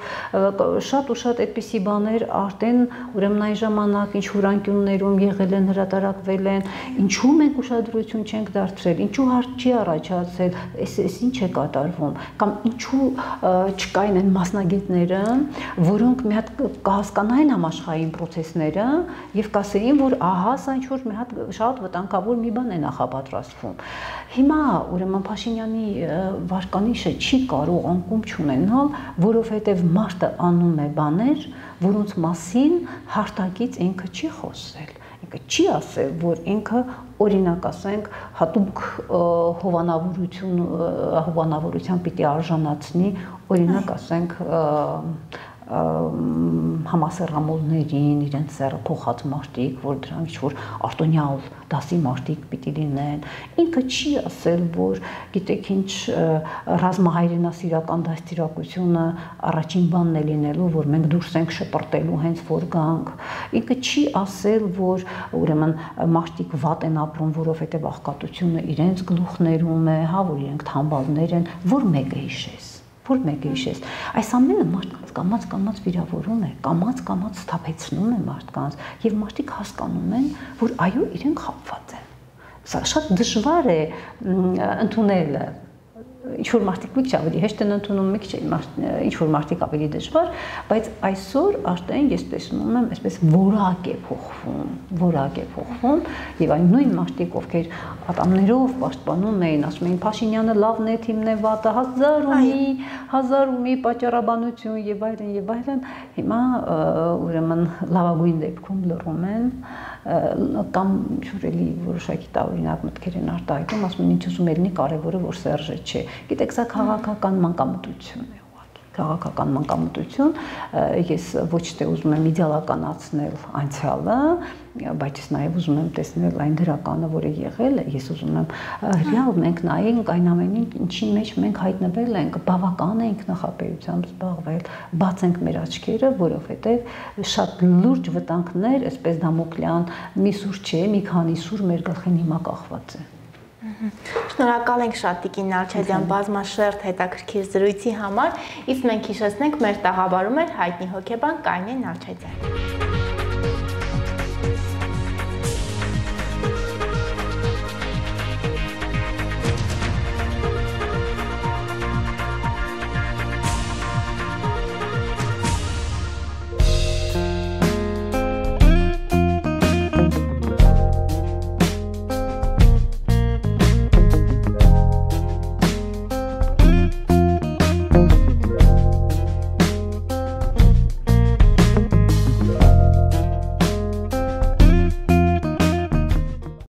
շատ ու շատ այդպիսի բաներ արդեն ուրեմն այն ժամանակ ինչ որ անկյուններում եղել են, հրատարակվել են, ինչու մենք ուշադրություն չենք դարձրել, ինչու հարց չի առաջացել, այս ինչ է կատարվում, կամ ինչու չկային այն մասնագետները, որոնք մի հատ կհասկանային համաշխարհային պրոցեսները եւ կասեին, որ ահա սա ինչ-որ մի հատ շատ վտանգավոր մի բան է նախապատրաստվում։ Հիմա ուրեմն Փաշինյանի վարկանիշը չի կարող անկում չունենալ, որովհետեւ մարդը անում է բաներ, որոնց մասին հարտակից ինքը չի խոսել։ Ինքը չի ասել, որ ինքը օրինակ ասենք հատուկ հովանավորության պիտի արժանացնի, օրինակ ասենք համասեռամոլներին, իրենց սերը փոխած մարդիկ, որ դրանք ինչ-որ արտոնյալ դասի մարդիկ պիտի լինեն։ Ինքը չի ասել, որ գիտեք ինչ ռազմահայրենասիրական դաստիարակությունը առաջին բանն է լինելու, որ մենք դուրս ենք շպրտելու հենց որ գանք։ Ինքը չի ասել, որ ուրեմն մարդիկ վատ են ապրում, որովհետև աղքատությունը իրենց գլուխներում է, հա, որ իրենք թամբալներ են, որ մեկը հիշես։ Որ մեկը հիշես, այս ամենը մարդկանց կամաց վիրավորում է, կամաց սթափեցնում է մարդկանց եւ մարդիկ հասկանում են, որ այո, իրենք խաբված են։ Սա շատ դժվար է ընդունելը, ինչ-որ մարդիկ մի քիչ ավելի հեշտ են ընդունում, մի քիչ ինչ-որ մարդիկ ավելի դժվար, բայց այսօր արդեն ես տեսնում եմ, այսպես որակ է փոխվում, եւ այն նույն մարդիկ, ովքեր ատամներով պաշտպանում էին, ասում էին Փաշինյանը լավն է, թիմն է վատը, հազար ու մի պատճառաբանություն եւ այլն, հիմա ուրեմն լավագույն դեպքում լռում են կամ ինչ-որ որոշակի տարօրինակ մտքեր են արտահայտում, ասում են ինչ ուզում ելնի, կարևորը որ Սերժը չէ։ Գիտեք, սա քաղաքական մանկամտություն է ուղղակի, քաղաքական մանկամտություն, ես ոչ թե ուզում եմ իդեալականացնել անցյալը, բայց ես նաև ուզում եմ տեսնել այն դրականը, որը եղել է, ես ուզում եմ ռեալ մենք նայենք այն ամենին, ինչի մեջ մենք հայտնվել ենք, բավական ենք նախապեյությամբ զբաղվել, բացենք մեր աչքերը, որովհետև շատ լուրջ վտանգներ, այսպես դամոկլյան մի սուր չէ, մի քանի սուր մեր գլխին հիմա կախված է։ Շնորհակալ ենք շատ Տիկին Նալչադյան բազմաշերտ հետաքրքիր զրույցի համար, իսկ մենք հիշեցնենք մեր տաղավարում էր հայտնի հոգեբան Կարինե Նալչադյանը։